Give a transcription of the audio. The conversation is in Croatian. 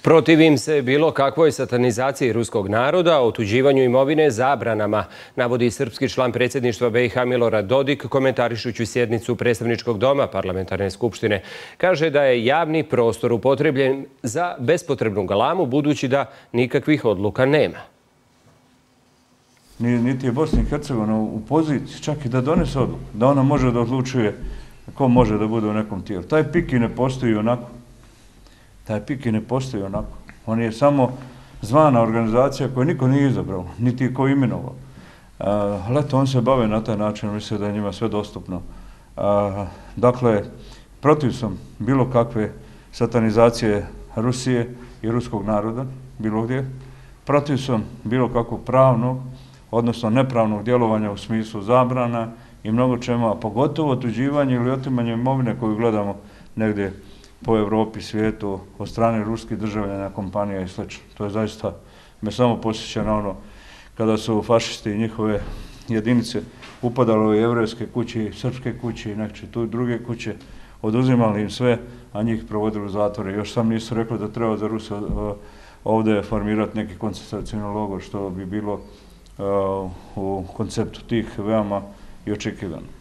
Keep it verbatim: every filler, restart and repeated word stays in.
Protivim se bilo kakvoj satanizaciji ruskog naroda, otuđivanju imovine, zabranama, navodi srpski član predsjedništva B i H Milorad Dodik komentarišući sjednicu predstavničkog doma parlamentarne skupštine. Kaže da je javni prostor upotrebljen za bespotrebnu galamu budući da nikakvih odluka nema. Niti je Bosna i Hercegovina u poziciji čak i da donese odluku, da ona može da odlučuje ko može da bude u nekom tijelu. Taj pik i ne postoji onako. Taj pik i ne postoji onako. On je samo zvana organizacija koju niko nije izabrao, niti je ko imenovao. Ali eto, on se bave na taj način, misle da je njima sve dostupno. Dakle, protiv sam bilo kakve satanizacije Rusije i ruskog naroda, bilo gdje. Protiv sam bilo kakvog pravnog, odnosno nepravnog djelovanja u smislu zabrana i mnogo čemu, a pogotovo otuđivanje ili otimanje imovine koju gledamo negdje po Evropi, svijetu, od strane ruskih državljana, kompanija i sl. To je zaista, me samo posjeća na ono kada su fašisti i njihove jedinice upadali u jevrejske kuće, srpske kuće i nekće tu druge kuće, oduzimali im sve, a njih provodili u zatvore. Još sam nisu rekli da treba za Rusi ovdje formirati neki koncentracioni logor, što bi bilo u konceptu tih veoma i očekivano.